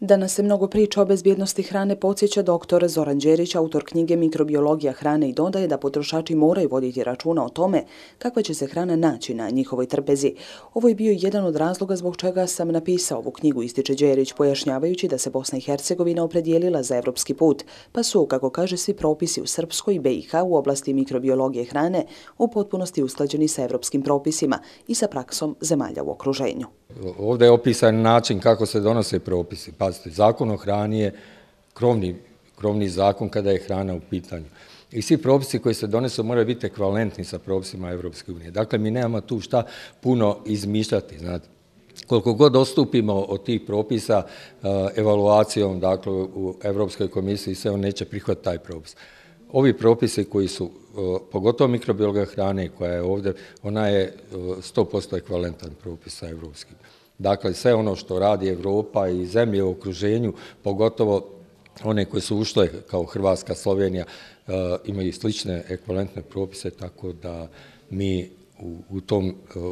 Danas se mnogo priča o bezbjednosti hrane, podsjeća dr. Zoran Đerić, autor knjige Mikrobiologija hrane, i dodaje da potrošači moraju voditi računa o tome kakva će se hrana naći na njihovoj trpezi. Ovo je bio jedan od razloga zbog čega sam napisao ovu knjigu, ističe Đerić, pojašnjavajući da se Bosna i Hercegovina opredijelila za evropski put, pa su, kako kaže, svi propisi u Srpskoj i BiH u oblasti mikrobiologije hrane u potpunosti usklađeni sa evropskim propisima i sa praksom zemalja u okruženju. Ovdje je opisan način kako se donose propisi. Pazite, Zakon o hrani je krovni zakon kada je hrana u pitanju. I svi propisi koji se donesu moraju biti ekvivalentni sa propisima Evropske unije. Dakle, mi nemamo tu šta puno izmišljati. Znate. Koliko god odstupimo od tih propisa evaluacijom, dakle, u Evropskoj komisiji, sve on neće prihvatiti taj propis. Ovi propisi koji su, pogotovo mikrobiologija hrane koja je ovdje, ona je 100% ekvivalentan propisa evropskim. Dakle, sve ono što radi Evropa i zemlje u okruženju, pogotovo one koje su ušle kao Hrvatska, Slovenija, imaju slične ekvivalentne propise, tako da mi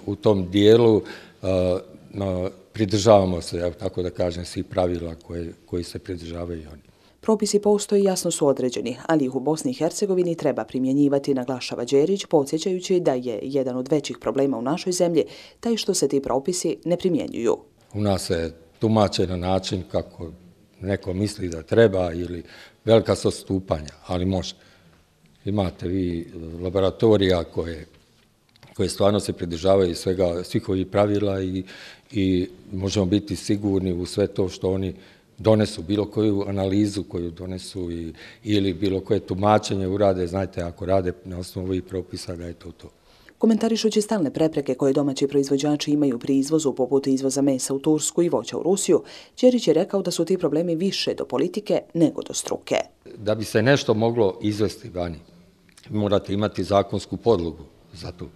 u tom dijelu pridržavamo se, tako da kažem, svih pravila koji se pridržavaju i oni. Propisi postoji, jasno su određeni, ali ih u Bosni i Hercegovini treba primjenjivati, naglašava Đerić, podsjećajući da je jedan od većih problema u našoj zemlji taj što se ti propisi ne primjenjuju. U nas se tumače na način kako neko misli da treba ili velika su odstupanja, ali može. Imate vi laboratorija koje stvarno se pridržavaju svih ovih pravila i možemo biti sigurni u sve to što oni donesu, bilo koju analizu koju donesu ili bilo koje tumačenje urade, znajte, ako rade na osnovu ovih propisa da je to. Komentarišući stalne prepreke koje domaći proizvođači imaju pri izvozu, poput izvoza mesa u Tursku i voća u Rusiju, Đerić je rekao da su ti problemi više do politike nego do struke. Da bi se nešto moglo izvesti vani, morate imati zakonsku podlogu za to.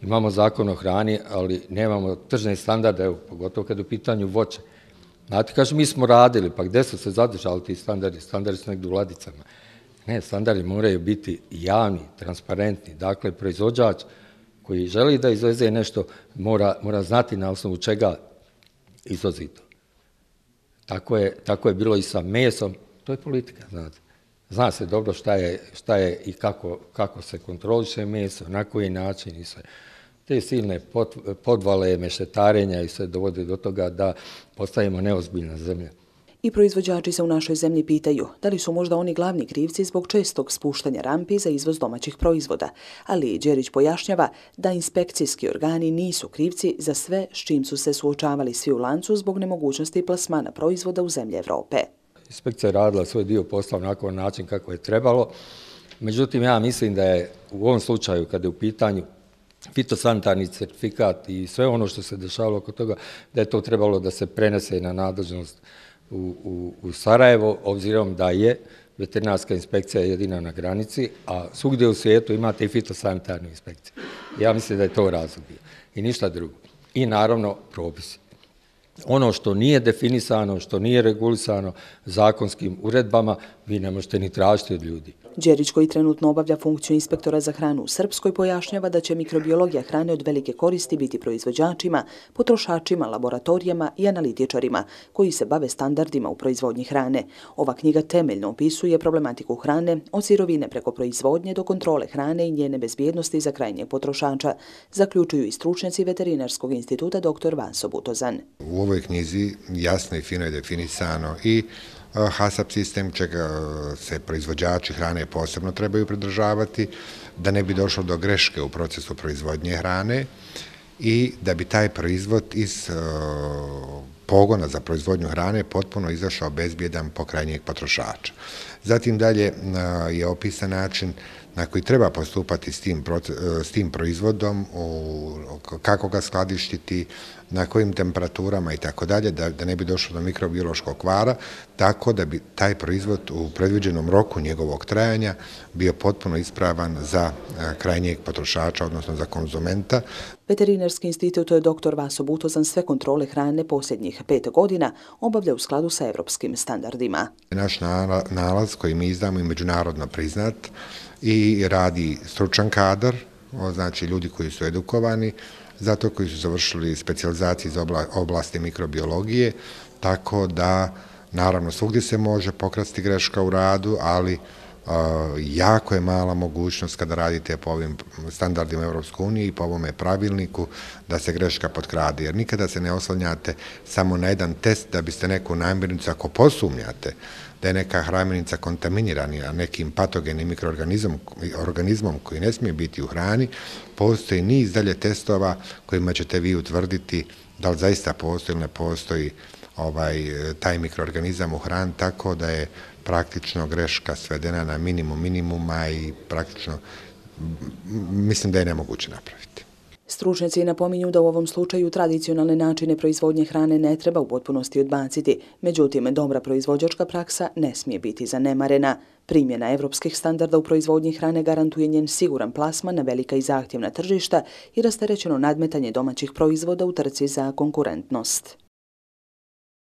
Imamo zakon o hrani, ali nemamo tržne standarde, pogotovo kad je u pitanju voće. Znate, kaže, mi smo radili, pa gdje su se zadržali ti standardi? Standardi su negdje u ladicama. Ne, standardi moraju biti javni, transparentni. Dakle, proizvođač koji želi da izveze nešto mora znati na osnovu čega izvozi to. Tako je bilo i sa mesom. To je politika, znate. Zna se dobro šta je i kako se kontroliše meso, na koji način i sve. Te silne podvale, mešetarenja i sve dovode do toga da postajemo neozbiljna zemlja. I proizvođači se u našoj zemlji pitaju da li su možda oni glavni krivci zbog čestog spuštanja rampi za izvoz domaćih proizvoda, ali Đerić pojašnjava da inspekcijski organi nisu krivci za sve s čim su se suočavali svi u lancu zbog nemogućnosti plasmana proizvoda u zemlje Evrope. Inspekcija je radila svoj dio posla na način kako je trebalo, međutim ja mislim da je u ovom slučaju kada je u pitanju fitosanitarni certifikat i sve ono što se dešavalo oko toga, da je to trebalo da se prenese na nadležnost u Sarajevo, obzirom da je veterinarska inspekcija jedina na granici, a svugdje u svijetu imate i fitosanitarnu inspekciju. Ja mislim da je to razlog bio i ništa drugo. I naravno propisi. Ono što nije definisano, što nije regulisano zakonskim uredbama, vi ne možete ni tražiti od ljudi. Đerić, koji trenutno obavlja funkciju inspektora za hranu u Srpskoj, pojašnjava da će mikrobiologija hrane od velike koristi biti proizvođačima, potrošačima, laboratorijama i analitičarima koji se bave standardima u proizvodnji hrane. Ova knjiga temeljno opisuje problematiku hrane od sirovine preko proizvodnje do kontrole hrane i njene bezbjednosti za krajnjeg potrošača, zaključuju i stručnjaci Veterinarskog instituta dr. Vanso Butozan. U ovoj knjizi jasno i fino je definisano i HACCP sistem, čega se proizvođači hrane posebno trebaju pridržavati, da ne bi došlo do greške u procesu proizvodnje hrane i da bi taj proizvod iz pogona za proizvodnju hrane potpuno izašao bezbjedan po krajnjeg potrošača. Zatim dalje je opisan način na koji treba postupati s tim proizvodom, kako ga skladištiti, na kojim temperaturama i tako dalje, da ne bi došlo do mikrobiološkog kvara, tako da bi taj proizvod u predviđenom roku njegovog trajanja bio potpuno ispravan za krajnjeg potrošača, odnosno za konzumenta. Veterinarski institut dr. Vanso Butozan sve kontrole hrane posljednjih 5 godina obavlja u skladu sa evropskim standardima. Naš nalaz koji mi izdamo je međunarodno priznat i radi stručan kadar, znači ljudi koji su edukovani, zato koji su završili specijalizacije iz oblasti mikrobiologije, tako da Naravno, svugdje se može pokrasti greška u radu, ali jako je mala mogućnost kada radite po ovim standardima Europske unije i po ovome pravilniku da se greška potkrade, jer nikada se ne oslanjate samo na jedan test da biste neku namirnicu, ako posumnjate da je neka namirnica kontaminirana nekim patogenim mikroorganizmom koji ne smije biti u hrani, postoji niz dalje testova kojima ćete vi utvrditi da li zaista postoji ili ne postoji taj mikroorganizam u hrani, tako da je praktično greška svedena na minimum minimuma i praktično mislim da je nemoguće napraviti. Stručnjaci napominju da u ovom slučaju tradicionalne načine proizvodnje hrane ne treba u potpunosti odbaciti, međutim, dobra proizvođačka praksa ne smije biti zanemarena. Primjena evropskih standarda u proizvodnji hrane garantuje njen siguran plasman na velika i zahtjevna tržišta i rasterećeno nadmetanje domaćih proizvoda u trci za konkurentnost.